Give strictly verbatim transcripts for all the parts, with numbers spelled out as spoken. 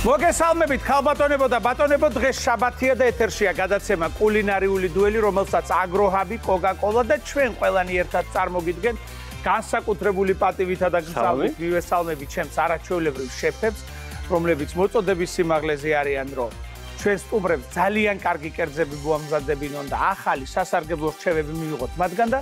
მოგესალმებით ქალბატონებო და ბატონებო, დღეს შაბათია და ეთერშია გადაცემა კულინარიული დუელი, რომელსაც აგროჰაბი, კოკა-კოლა და ჩვენ ყველანი ერთად წარმოგიდგენთ. განსაკუთრებული პატივითა და გზავნით მივესალმებით ჩემს არაჩვეულებრივ შეფებს, რომლებიც მოწოდების სიმაღლეზე არიან, რომ ჩვენ სტუმრებს ძალიან კარგი კერძები მოამზადებინონ და ახალი სასარგებლო რჩევები მივიღოთ მათგან და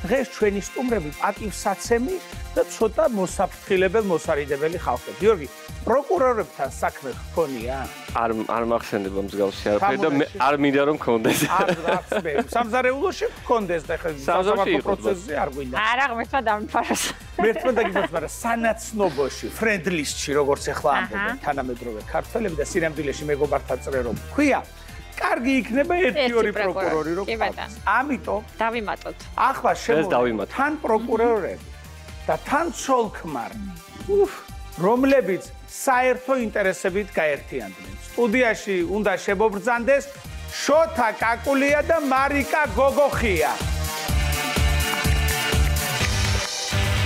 დღეს ჩვენი სტუმრები პატივსაცემი და ცოტა მოსაფრთხილებელ მოსარიდებელი ხალხი. გიორგი, პროკურორებთან საქმე გქონია? არ არ მახსენდება მსგავსი არაფერი და არ მინდა რომ გქონდეს. არ არც მე. სამზარეულოში გქონდეს და ხა სასამართლო პროცესზე არ გვინდა. არა, ღმერთმა დამიფაროს. ღმერთმა დაგიფაროს, მაგრამ სანაცნობოში, ფრენდლისტში, როგორც ახლა ამბობენ თანამედროვე ქართველები და სინამდვილეში მეგობართა წრე რომ ქვია, კარგი იქნება ერთი ორი პროკურორი რო გყავს. ამიტომ დავიმატოთ. ახლა შემოვიდა თან პროკურორები და თან ცოლქმარნი. უფ, რომლებიც საერთო ინტერესებით გაერთიანდნენ. სტუდიაში უნდა შემობრძანდეს შოთა კაკულია და მარიკა გოგოხია.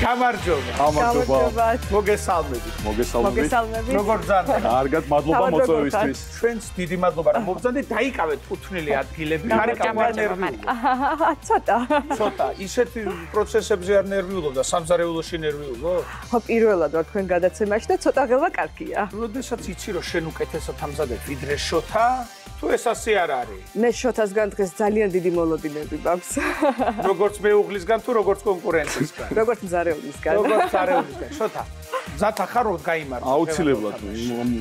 გამარჯობა. გამარჯობა. მოგესალმებით. მოგესალმებით. როგორ ბრძანდა? კარგად, მადლობა მოწვევისთვის. ჩვენს დიდი მადლობა რომ მობრძანდით, დაიკავეთ კუთვნილი ადგილები. მარიკა ნერვიულობდა. ცოტა. ცოტა, ისეთი პროცესებზე არ ნერვიულობდა, სამზარეულოში ნერვიულო? ხო, პირველად ვარ თქვენ გადაცემაში და ცოტა ღელვა კარგია. როდესაც იცი რომ შენ უკეთესად ამზადებ ვიდრე შოთა, თუ ეს ასე არ არის? მე შოთასგან დღეს ძალიან დიდი მოლოდინები მაქვს. როგორც მეუღლისგან თუ როგორც კონკურენტისგან? როგორც მზარეულისგან. როგორც მზარეულისგან. შოთა, მზათა ხარ რომ გაიმარჯვო? აუცილებლად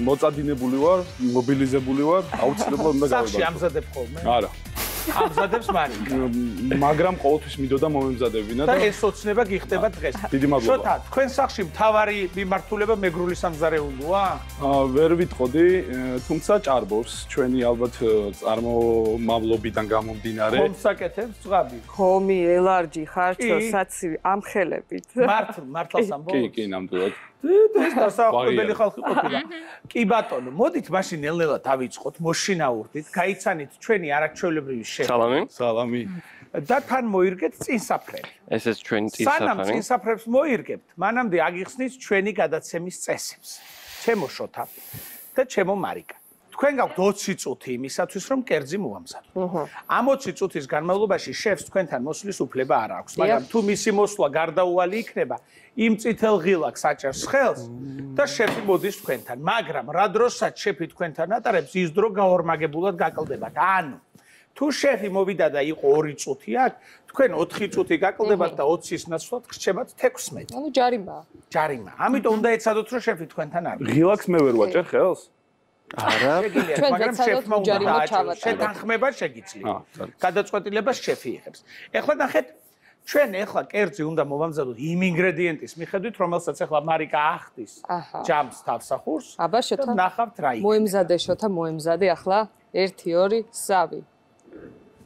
მოწადინებული ვარ, მობილიზებული ვარ, აუცილებლად უნდა გავიბარგო. სახში ამზადებ ხოლმე? არა. ამზადებს მარიკა. მაგრამ ყოველთვის მიდოდა მომემზადებინა და ეს ოცნება გიხდება დღეს. დიდი მადლობა. შოთა, თქვენ სახში მთავარი მიმართულება მეგრული სამზარეულოა? ვერ ვიტყოდი, თუმცა ჭარბობს ჩვენი ალბათ წარმომავლობიდან გამომდინარე. ხომსაკეთებს ზღაბი? ხომი, ელარჯი, ხარჩო, საცივი, ამხელებით. მართლ, მართლაც ამბობ? კი, კი, ნამდვილად. ეს დასაახლებელი ხალხი ყოფილა. კი ბატონო, მოდით მაშინ ნელ-ნელა დავიწყოთ, მოშინაურდით, გაიცანით ჩვენი არაჩვეულებრივი შეფი. სალამი. სალამი. და თან მოირგეთ წინსაფრები. ესეც ჩვენი სანამ წინსაფარი. წინსაფრებს მოირგებთ, მანამდე აგიხსნით ჩვენი გადაცემის წესებს. ჩემო შოთა და ჩემო მარიკა. თქვენ გაქვთ ოცი წუთი იმისათვის, რომ კერძი მოამზადოთ. ამ ოცი წუთის განმავლობაში შეფს თქვენთან მოსვლის უფლება არ აქვს, მაგრამ თუ მისი მოსვლა გარდაუვალი იქნება, იმ წითელ ღილაკს აჭერს ხელს და შეფი მოდის თქვენთან, მაგრამ რა დროსაც შეფი თქვენთან ატარებს, ის დრო გაორმაგებულად გაკლდებათ. ანუ თუ შეფი მოვიდა და იყო ორი წუთი აქ, თქვენ ოთხი წუთი გაკლდებათ და ოცის ნაცვლად გრჩებათ თექვსმეტი. ანუ ჯარიმაა. ჯარიმა. ამიტომ უნდა ეცადოთ, რომ შეფი თქვენთან არ. ღილაკს მე ვერ ვაჭერ ხელს? არა. მაგრამ შეფმა უნდა დააჭეროს. შეთანხმება შეგიძლია. გადაწყვეტილებას შეფი იღებს. ეხლა ნახეთ, ჩვენ ეხლა კერძი უნდა მოვამზადოთ იმ ინგრედიენტის მიხედვით, რომელსაც ეხლა მარიკა ახდის ჯამს თავსახურს. აბა შოთა. ნახავთ რა იქნება. მოემზადე შოთა, მოემზადე ახლა ერთი, ორი, სამი.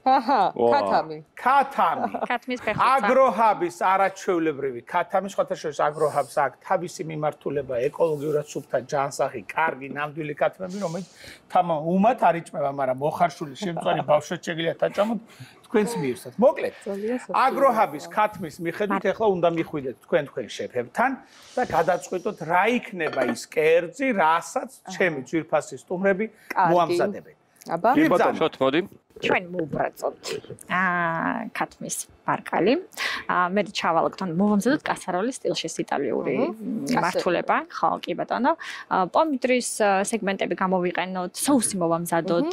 აჰა, ქათამი. ქათამი. ქათმის ფეხბურთი. აგროჰაბის არაჩვეულებრივი ქათამი, სხვათა შორის აგროჰაბს აქვს თავისი მიმართულება, ეკოლოგიურად სუფთა ჯანსაღი, კარგი, ნამდვილი ქათმები, რომელიც თამა უმად არ იჭმება, მაგრამ მოხარშული შემწვარი ბავშვად შეგიძლიათ აჭამოთ თქვენს მიირსად. მოკლედ, აგროჰაბის ქათმის მიხედვით ახლა უნდა მიხვიდეთ თქვენ თქვენ შეფებთან და გადაწყვეტოთ რა იქნება ის კერძი, რასაც ჩემი ძვირფასი სტუმრები მოამზადებენ. აბა, შოთ მოდი. ჩვენ მოვბრაწოთ აა ქათმის ბარკალი. აა მე ჩავალგოთ, ანუ მოვამზადოთ კასაროლის სტილში იტალიური მიმართულება. ხო, კი ბატონო. პომიდრის სეგმენტები გამოვიყენოთ, соуსი მოვამზადოთ,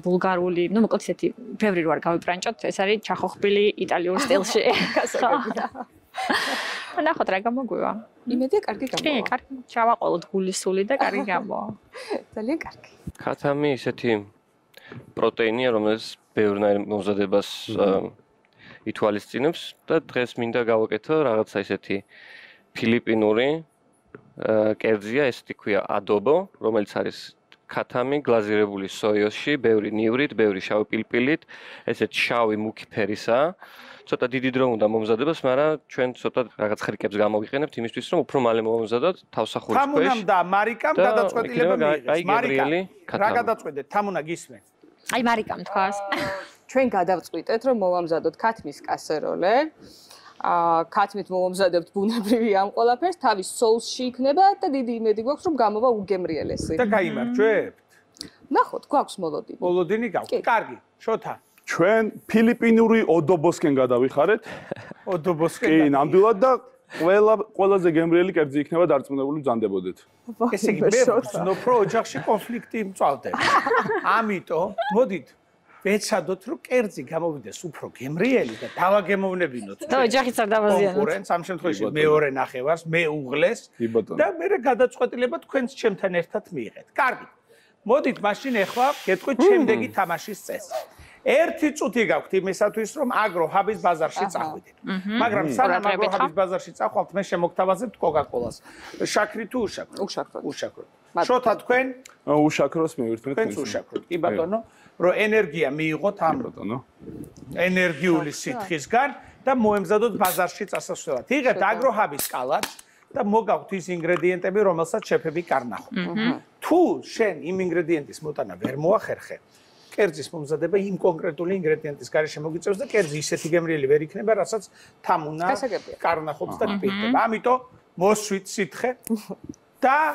ბულგარული, ну, მოკლედ ისეთი ბევრი რო არ გავიბრანჭოთ, ეს არის ჩახოხბილი იტალიურ სტილში. კასაროლა. ნახოთ რა გამოგვივა. იმედია კარგი გამოვა. კი, კარგი. ჩავაყოლოთ გულისული და კარგი გამოვა. ძალიან კარგი. ქათამი ისეთი პროტეინია, რომელიც ბევრნაირ მომზადებას ითვალისწინებს და დღეს მინდა გავაკეთო რაღაცა ისეთი ფილიპინური კერძია, ესეთი ქვია ადობო, რომელიც არის ქათამი გლაზირებული სოიოსში, ბევრი ნივრით, ბევრი შავი პილპილით, ესეთ შავი მუქი ფერისაა. ცოტა დიდი დრო უნდა მომზადებას, მაგრამ ჩვენ ცოტა რაღაც ხრიკებს გამოვიყენებთ იმისთვის, რომ უფრო მალე მომზადოთ თავსახურის ქვეშ. თამუნამ და მარიკამ გადაწყვეტილება მიიღეს. მარიკა, რა გადაწყვეტეთ? თამუნა გისმენთ? აი მარიკამ თქვას. ჩვენ გადავწყვიტეთ, რომ მოვამზადოთ ქათმის კასეროლე. აა ქათმით მოვამზადებთ ბუნებრივი ამ ყველაფერს, თავის соуსში იქნება და დიდი იმედი გვაქვს რომ გამოვა უგემრიელესი. და გაიმარჯვებთ. ნახოთ, გვაქვს მოლოდინი. მოლოდინი გაქვს. კარგი, შოთა. ჩვენ ფილიპინური ოდობოსკენ გადავიხარეთ. ოდობოსკენ. კი, ნამდვილად და ყველა ყველაზე გემრიელი კერძი იქნება დარწმუნებული ბრძანდებოდეთ. ესე იგი, მე ვგრძნობ, რომ ოჯახში კონფლიქტი მწვალდება. ამიტომ, მოდით, ვეცადოთ, რომ კერძი გამოვიდეს უფრო გემრიელი და დავაგემოვნებინოთ. და ოჯახიც არ დავაზიანოთ. კონკურენტს ამ შემთხვევაში მეორე ნახევარს, მე უღლეს და მე გადაწყვეტილება თქვენს ჩემთან ერთად მიიღეთ. კარგი. მოდით, მაშინ ახლა გეტყვით შემდეგი თამაშის წესი. ერთი წუთი გაქვთ იმისათვის, რომ აგროჰაბის ბაზარში წახვიდეთ. მაგრამ სანამ აგროჰაბის ბაზარში წახვალთ, მე შემოგთავაზებთ კოკაკოლას. შაქრი თუ უშაქრო? უშაქრო. უშაქრო. შოთა თქვენ? უშაქროს მივირთმეთ. თქვენც უშაქროთ. კი ბატონო, რომ ენერგია მიიღოთ ამ ბატონო. ენერგიული სითხისგან და მოემზადოთ ბაზარში წასასვლელად. იღებთ აგროჰაბის კალათს და მოგაქვთ ის ინგრედიენტები, რომელსაც შეფები კარნახო. თუ შენ იმ ინგრედიენტის მოტანა ვერ მოახერხე, კერძის მომზადება იმ კონკრეტული ინგრედიენტის გარეშე მოგიწევს და კერძი ისეთი გემრიელი ვერ იქნება, რასაც თამუნა კარნახობს და გპირდება. ამიტომ მოსვით სითხე და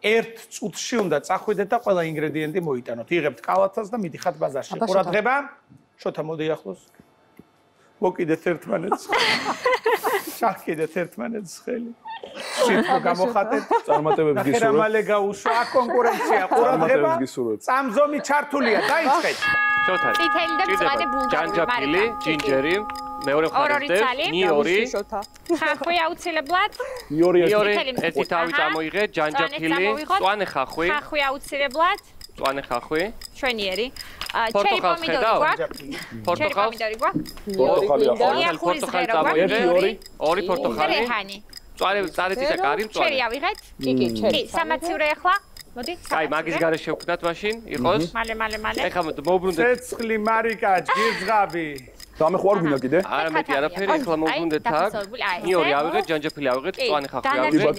ერთ წუთში უნდა წახვიდეთ და ყველა ინგრედიენტი მოიტანოთ. იღებთ კალათას და მიდიხართ ბაზარში. ყურადღება. შოთა მოდი ახლოს. მოკიდეთ ერთმანეთს. შარკიდეთ ერთმანეთს ხელი. სიტყვა გამოხატეთ. წარმატებებს გისურვებთ. ნახერამალე გაუსვა აქ კონკურენცია. ყურადღება. წამზომი ჩართულია. დაიწყეთ. შოთა. წითელი და მწვანე ბულგარული. ჯანჯაფილი, ჯინჯერი, მეორე მხარეს ნიორი. ხახვი აუცილებლად. ნიორი ერთი თავი წამოიღეთ, ჯანჯაფილი, მწვანე ხახვი. ხახვი აუცილებლად. მწვანე ხახვი. შვენიერი. ჩერი პომიდორი გვაქვს. პორტოხალი პომიდორი გვაქვს. პორტოხალი პორტოხალი წამოიღეთ, ორი პორტოხალი. რეჰანი. მწვანე წარეთი და კარი მწვანე. ჩერი ავიღეთ? კი, კი, ჩერი. კი, სამაცივრე ახლა. მოდი. აი, მაგის გარეშე შევქმნათ მაშინ, იყოს. მალე, მალე, მალე. ეხლა მოვბრუნდეთ. ცეცხლი, მარიკა, ჯგირძღაბი. დამეხვარ გინდა კიდე? არა მეტი არაფერი, ეხლა მოვბრუნდეთ აქ. ნიორი ავიღეთ, ჯანჯაფილი ავიღეთ, მწვანე ხახვი ავიღეთ.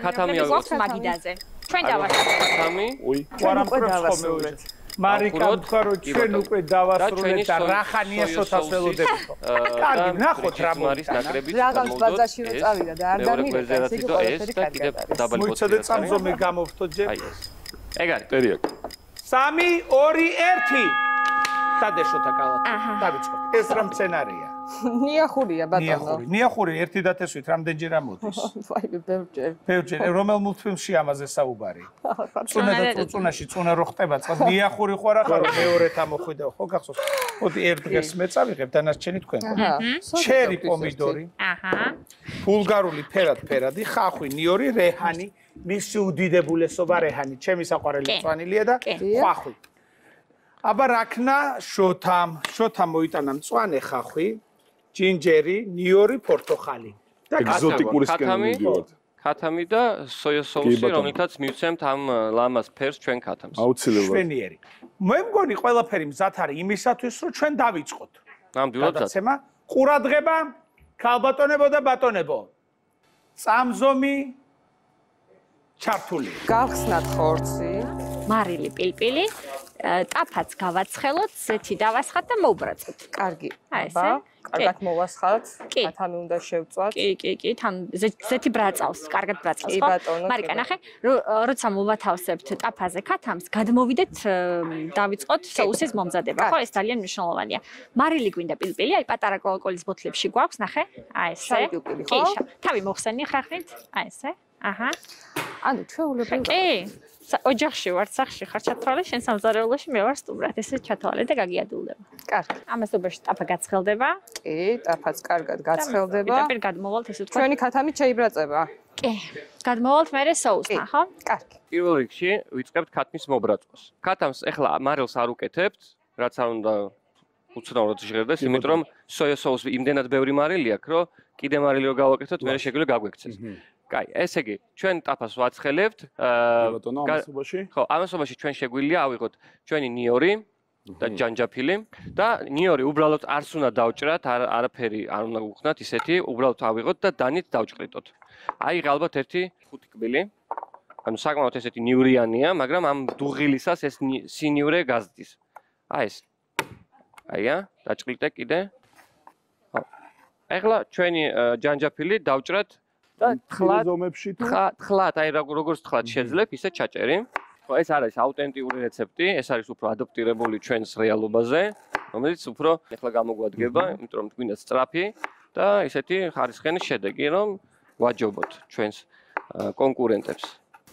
ქათამი ავიღეთ მაგიდაზე. ჩვენ დავასრულეთ. ქათამი. უი. ვარამფრებს ხოლმე უჭერთ. მარიკა თქვა რომ ჩვენ უკვე დავასრულეთ და რახანია შოთას ველოდებით. კარგი, ნახოთ რა მოიწონა. რაღაც ბაზარში რო წავიდა და არ დამირეკა, ეს იგი ყველაფერი კარგია. მოიცადე წამზომი გამოვთო ჯერ. აი ეს. ეგ არის. ტერია. სამი, ორი, ერთი. დადეშოთა კალათი. დავიწყოთ. ეს რა მცენარეა? ნიახურია ბატონო. ნიახური. ნიახური ერთი დათესვით რამდენჯერ ამოდის? ვაი, ბევრჯერ. ბევრჯერ. რომელ მულტფილმში ამაზე საუბარი? წუნა და წუწუნაში წუნა რო ხტება წყალ. ნიახური ხო არა ხარო მეორეთ ამოხვიდა ხო გახსოვს? მოდი ერთ დღეს მე წავიღებ დანარჩენი თქვენ. ჩერი პომიდორი. აჰა. ბულგარული ფერად ფერადი, ხახვი, ნიორი, რეჰანი, მისი უდიდებულესობა რეჰანი, ჩემი საყვარელი მწვანილია და ხახვი. აბა რაქნა შოთამ, შოთამ მოიტანა მწვანე ხახვი, ჯინჯერი, ნიორი, პორტოხალი. და ეგზოტიკური სკენი მივიდივართ. ქათამი და სოია соуსი, რომელთაც მივცემთ ამ ლამას ფერს ჩვენ ქათამს. აუცილებლად. შვენიერი. მე მგონი ყველაფერი მზად არის იმისათვის, რომ ჩვენ დავიწყოთ. ნამდვილად. გადაცემა, ყურადღება, ქალბატონებო და ბატონებო. წამზომი ჩართული. გავხსნათ ხორცი. მარილი პილპილი, ტაფაც გავაცხელოთ, ზეთი დავასხათ და მოვბრაწოთ. კარგი. აი ესე. კარგად მოვასხათ. ქათამი უნდა შევწვათ. კი, კი, კი, თან ზეთი ბრაწავს, კარგად ბრაწავს, ხო? მარიკა, ნახე, როცა მოვათავსებთ ტაფაზე ქათამს, გადმოვიდეთ, დავიწყოთ соуსის მომზადება, ხო? ეს ძალიან მნიშვნელოვანია. მარილი გვინდა პილპილი, აი პატარა კოკაკოლის ბოთლებში გვაქვს, ნახე? აი ესე. კი, თავი მოხსენი ხრაχνით, აი ესე. აჰა. ანუ ჩვეულებრივ კი. ოჯახში ვარ, სახში ხარ ჩათვალე, შენ სამზარეულოში მე ვარ სტუმრად, ესე ჩათვალე და გაგიადულდება. კარგი. ამას უბაში ტაფა გაცხელდება. კი, ტაფაც კარგად გაცხელდება. პირდაპირ გადმოვალთ ესე თქვა. ჩვენი ქათამით შეიბრაწება. კი. გადმოვალთ მერე соусთან, ხო? კარგი. პირველ რიგში ვიწყებთ ქათმის მობრაწყვას. ქათამს ეხლა მარილს არ უკეთებთ, რაც არ უნდა უცნაურად ჟღერდეს, იმიტომ რომ სოია соуსი იმდენად ბევრი მარილი აქვს, რომ კიდე მარილი რო გავაკეთოთ, მერე შეგვიძლია გაგვექცეს. კაი, ესე იგი, ჩვენ ტაფას ვაცხელებთ. ბატონო, ამასობაში? ხო, ამასობაში ჩვენ შეგვიძლია ავიღოთ ჩვენი ნიორი და ჯანჯაფილი და ნიორი უბრალოდ არც უნდა დავჭრათ, არაფერი არ უნდა გუხნათ ისეთი, უბრალოდ ავიღოთ და დანით დავჭყრიტოთ. აიღე ალბათ ერთი ხუთი კბილი. ანუ საკმაოდ ესეთი ნიურიანია, მაგრამ ამ დუღილისას ეს სინიურე გაზდის. აი ეს. აია, დაჭყრიტე კიდე. ეხლა ჩვენი ჯანჯაფილი დავჭრათ და თხლად ზომებში თუ თხლად, აი როგორც თხლად შეძლებ, ისე ჩაჭერი. ხო, ეს არის აუთენტიური რეცეპტი, ეს არის უფრო ადაპტირებული ჩვენს რეალობაზე, რომელიც უფრო ეხლა გამოგვადგება, იმიტომ რომ გვინდა სწრაფი და ისეთი ხარისხიანი შედეგი, რომ ვაჯობოთ ჩვენს კონკურენტებს.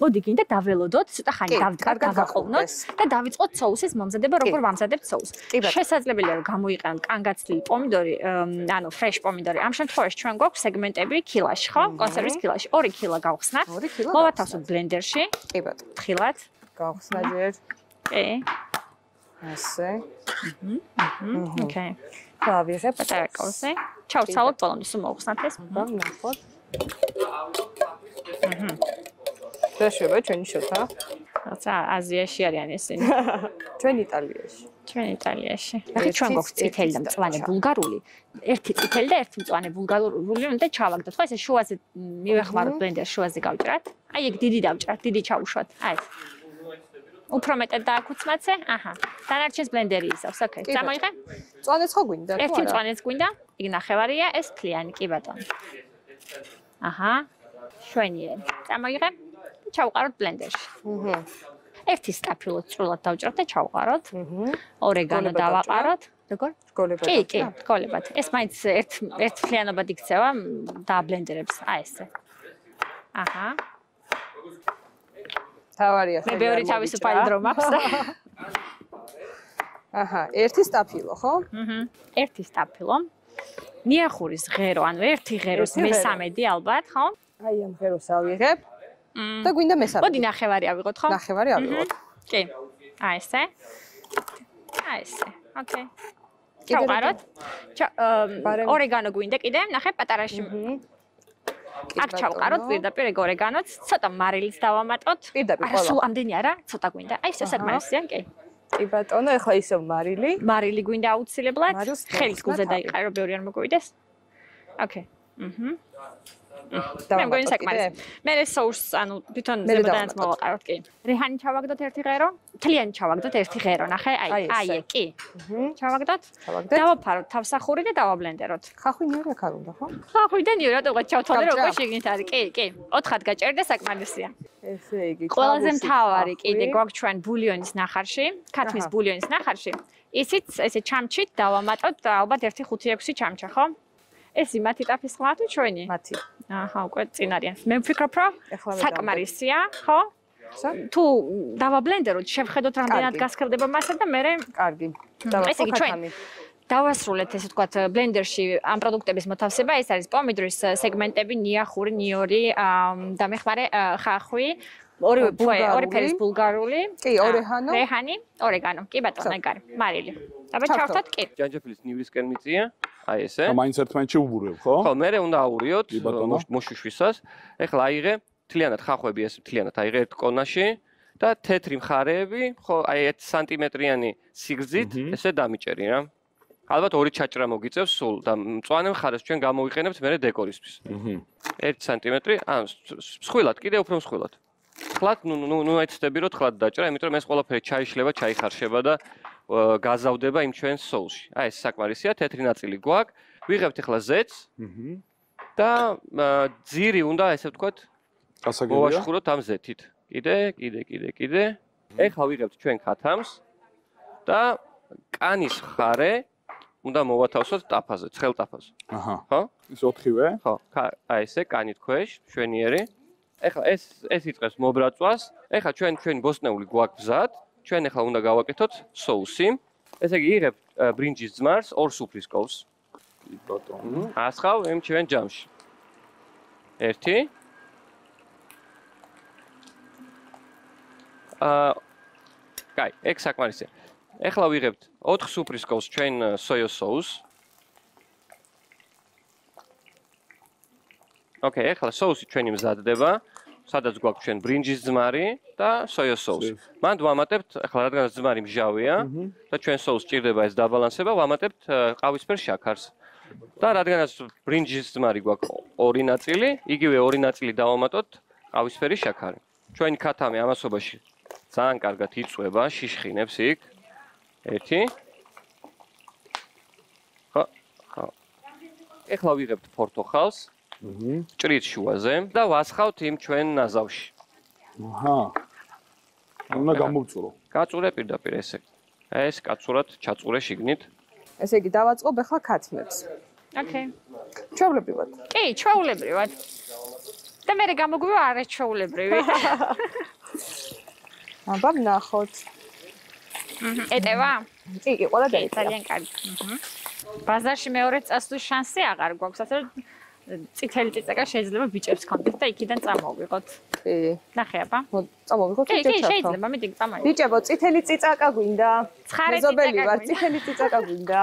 მოდი გინდა დაველოდოთ, ცოტა ხანი დავაყოვნოთ და დავიწყოთ соуსის მომზადება, როგორ ვამზადებთ соуს. შესაძლებელია რომ გამოიყენოთ კანგაცდილი პომიდორი, ანუ ფრეშ პომიდორი. ამ შემთხვევაში ჩვენ გვაქვს სეგმენტები კილაში, ხო? კონსერვის კილაში. ორი კილა გავხსნათ. მოვათავსოთ ბლენდერში. კი ბატონო. თხილად. გავხსნა ჯერ. კი. ასე. აჰა. ოკეი. დავიღებ პატარა კოლსე. ჩავცალოთ ბოლომდე, სულ მოვხსნათ ეს. ნახოთ. აჰა. შეშება ჩვენი შოთა. რაცა აზიაში არიან ესენი. ჩვენ იტალიაში. ჩვენ იტალიაში. ახლა ჩვენ გვაქვს წითელი და მწვანე ბულგარული. ერთი წითელი და ერთი მწვანე ბულგარული უნდა ჩავაგდოთ. ხო, ესე შუაზე მივეხმაროთ ბლენდერში, შუაზე გავჭრათ. აი ეგ დიდი დავჭრათ, დიდი ჩავუშვათ. აი ეს. უფრო მეტად დააკუცმაცე. აჰა. დანარჩენს ბლენდერი ისავს. ოკეი. წამოიღე? მწვანეც ხო გვინდა? ერთი მწვანეც გვინდა. იქ ნახევარია, ეს თლიანი, კი ბატონო. აჰა. შვენიერი. წამოიღე? ჩავყაროთ ბლენდერში. აჰა. ერთი სტაფილო წვრილად დავჭრათ და ჩავყაროთ. აჰა. ორეგანო დავაყაროთ. როგორ? რგოლებად. კი, კი, რგოლებად. ეს მაინც ერთ ერთ თლიანობად იქცევა და ბლენდერებს. აი ესე. აჰა. თავარია. მე ბევრი თავისუფალი დრო მაქვს და აჰა, ერთი სტაფილო, ხო? აჰა. ერთი სტაფილო. ნიახურის ღერო, ანუ ერთი ღეროს მესამედი ალბათ, ხო? აი ამ ღეროს ავიღებ. და გვინდა მესამედი. მოდი ნახევარი ავიღოთ, ხო? ნახევარი ავიღოთ. კი. აი ესე. აი ესე. ოკეი. ჩავყაროთ. ორეგანო გვინდა კიდე, ნახე პატარაში. აქ ჩავყაროთ პირდაპირ ეგ ორეგანოც, ცოტა მარილიც დავამატოთ. პირდაპირ ყველა. სულ ამდენი არა, ცოტა გვინდა. აი ეს საკმარისია, კი. კი ბატონო, ეხლა ისევ მარილი. მარილი გვინდა აუცილებლად. ხელის გულზე დაიყარო, ბევრი არ მოგვიდეს. ოკეი. აჰა. მე მგონი საკმარისია. მე соуს, ანუ თვითონ ზემოდანაც მოვაყაროთ, კი. რეჰანი ჩავაგდოთ ერთი ღერო, თლიანი ჩავაგდოთ ერთი ღერო, ნახე, აი, აი ეგ, კი. აჰა. ჩავაგდოთ. დავაფაროთ თავსახური და დავაბლენდეროთ. ხახვინიერი აქ არ უნდა, ხო? ხახვიდანიო, რატო ვიღაც ჩავთვალე, როგორ შეგინით არის, კი, კი. ოთხად გაჭერდა საკმარისია. ესე იგი, ყველაზე მთავარი კიდე გვაქვს ჩვენ ბულიონის ნახარში, ქათმის ბულიონის ნახარში. ისიც ესე ჩამჩით დავამატოთ ალბათ ერთი ხუთი ექვსი ჩამჩა, ხო? ეს იმათი ტაფის ხმა თუ ჩვენი? მათი. აჰა, უკვე წინ არიან. მე ვფიქრობ, რომ საკმარისია, ხო? თუ დავაბლენდეროთ, შევხედოთ რამდენად გასქრდება მასა და მე კარგი. ესე იგი ჩვენ დავასრულეთ ესე ვთქვათ ბლენდერში ამ პროდუქტების მოთავსება, ეს არის პომიდორის სეგმენტები, ნიახური, ნიორი და მეხმარე ხახვი, ორი ორი ფერის ბულგარული, კი, ორეჰანო, რეჰანი, ორეგანო, კი ბატონო, ეგარი, მარილი. აბა ჩავხოთ, კი. ჯანჯაფილის ნივრისკენ მიწია, აი ესე. და მაინც ერთმანეთში უბურებ, ხო? ხო, მე უნდა აურიოთ მოშუშვისას. ეხლა აიღე თლიანად ხახვები ეს თლიანად აიღე ერთ კონაში და თეთრი მხარეები, ხო, აი ერთი სანტიმეტრიანი სიგრძით ესე დამიჭერი რა. ალბათ ორი ჩაჭრა მოგიწევს სულ და მწვანე მხარეს ჩვენ გამოვიყენებთ მე დეკორისთვის. აჰა. ერთი სანტიმეტრი, ან მსხვილად, კიდე უფრო მსხვილად. ხლად, ნუ ნუ ნუ ეცდები რომ ხლად დაჭრა, იმიტომ რომ ეს ყველაფერი ჩაიშლება, ჩაიხარშება და გაზავდება იმ ჩვენს соуსში. აი ეს საკმარისია, თეთრი ნაწილი გვაქვს. ვიღებთ ახლა ზეთს. აჰა. და ძირი უნდა ესე ვთქვათ გასაგებია. მოვაშხუროთ ამ ზეთით. კიდე, კიდე, კიდე, კიდე. ეხლა ვიღებთ ჩვენ ქათამს და კანის ხარე უნდა მოვათავსოთ ტაფაზე, ცხელ ტაფაზე. აჰა. ხო? ეს ოთხივე? ხო, აი ესე კანით ქვეშ, შვენიერი. ეხლა ეს ეს იწყებს მობრაწვას. ეხლა ჩვენ ჩვენი ბოსტნეული გვაქვს მზად. ჩვენ ეხლა უნდა გავაკეთოთ соуსი. ესე იგი იღებთ ბრინჯის ძმარს, ორ სუფრის კოვს. კი ბატონო. ასხავ იმ ჩვენ ჯამში. ერთი. აა კაი, ეგ საკმარისია. ეხლა ვიღებთ ოთხ სუფრის კოვს ჩვენ სოიოს соуს. ოკეი, ეხლა соуსი ჩვენი მზადდება, სადაც გვაქვს ჩვენ ბრინჯის ძმარი და სოიოს соуსი. მან ვამატებთ, ეხლა რადგანაც ძმარი მჟავია და ჩვენ соуს ჭირდება ეს დაბალანსება, ვამატებთ ყავისფერ შაქარს. და რადგანაც ბრინჯის ძმარი გვაქვს ორი ნაწილი, იგივე ორი ნაწილი დავამატოთ ყავისფერი შაქარი. ჩვენი ქათამი ამასობაში ძალიან კარგად იწვება, შიშხინებს იქ. ერთი. ხო, ხო. ეხლა ვიღებთ ფორთოხალს. ჭრით შუაზე და ვასხავთ იმ ჩვენ ნაზავში. აჰა. უნდა გამოვწურო. გაწურე პირდაპირ ესე. ეს კაცურად ჩაწურე შიგნით. ესე იგი დავაწყობ ახლა ქათმებს. ოკეი. ჩვეულებრივად. კი, ჩვეულებრივად. და მე გამოგვივა არაჩვეულებრივი. აბა ნახოთ. ეტევა? კი, კი, ყველა კი, დაიწია. ძალიან კარგი. ბაზარში მეორე წასვლის შანსი აღარ გვაქვს, ასე რომ წითელი წიწაკა შეიძლება ბიჭებს კონდეთ და იქიდან წამოვიღოთ. კი. ნახე აბა. წამოვიღოთ კი, კი, შეიძლება, მიდი წამოვიღოთ. ბიჭებო, წითელი წიწაკა გვინდა? ცხარე მეზობელი წიწაკა ვარ, გვინდა. წითელი წიწაკა გვინდა?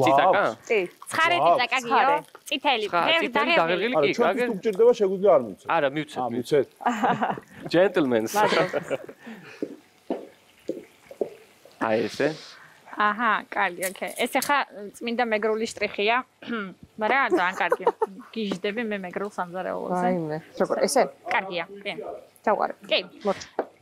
ციტაკა? კი. ცხარე წიწაკა გიო? წითელი. წითელი დაღერილი არა, კი, ჩვენ გაგერ. თუ გჭირდება შეგვიძლია არ მივცეთ. არა, მივცეთ. აა, მივცეთ. Gentlemen. აი ესე. აჰა, კარგი, ოკეი. ეს ახლა წმინდა მეგრული შტრიხია. მაგრამ ძალიან კარგი. გიჟდები მე მეგრულს ამზარეულოზე. აიმე, როგორ ესე? კარგია, კი. დავყარე. კი.